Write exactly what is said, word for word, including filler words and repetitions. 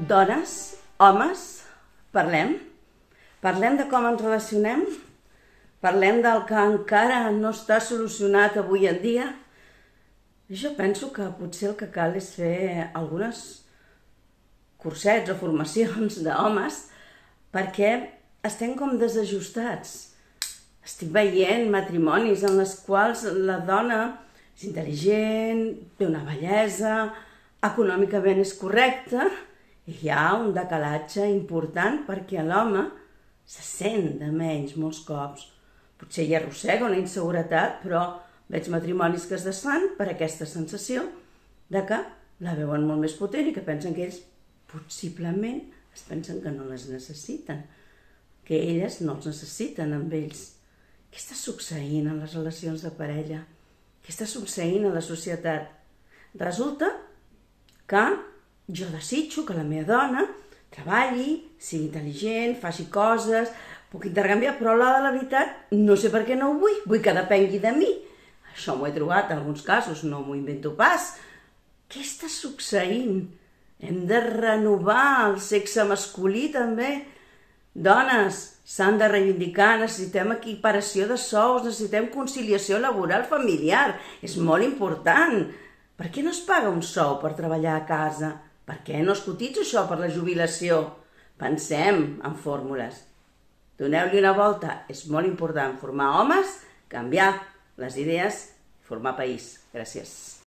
Dones, homes, parlem. Parlem de com ens relacionem. Parlem del que encara no està solucionat avui en dia. Jo penso que potser el que cal és fer algunes cursets o formacions d'homes perquè estem com desajustats. Estic veient matrimonis en els quals la dona és intel·ligent, té una bellesa, econòmicament és correcta, i hi ha un decalatge important perquè l'home se sent de menys molts cops. Potser hi arrossega una inseguretat, però veig matrimonis que es desfan per aquesta sensació de que la veuen molt més potent i que pensen que ells possiblement es pensen que no les necessiten, que elles no els necessiten amb ells. Què està succeint en les relacions de parella? Què està succeint a la societat? Resulta que jo desitjo que la meva dona treballi, sigui intel·ligent, faci coses, puc intercanviar, però a l'hora de la veritat no sé per què no ho vull, vull que depengui de mi. Això m'ho he trobat en alguns casos, no m'ho invento pas. Què està succeint? Hem de renovar el sexe masculí també. Dones, s'han de reivindicar, necessitem equiparació de sous, necessitem conciliació laboral familiar, és molt important. Per què no es paga un sou per treballar a casa? Per què no es cotitza això per la jubilació? Pensem en fórmules. Doneu-li una volta, és molt important formar homes, canviar les idees i formar país. Gràcies.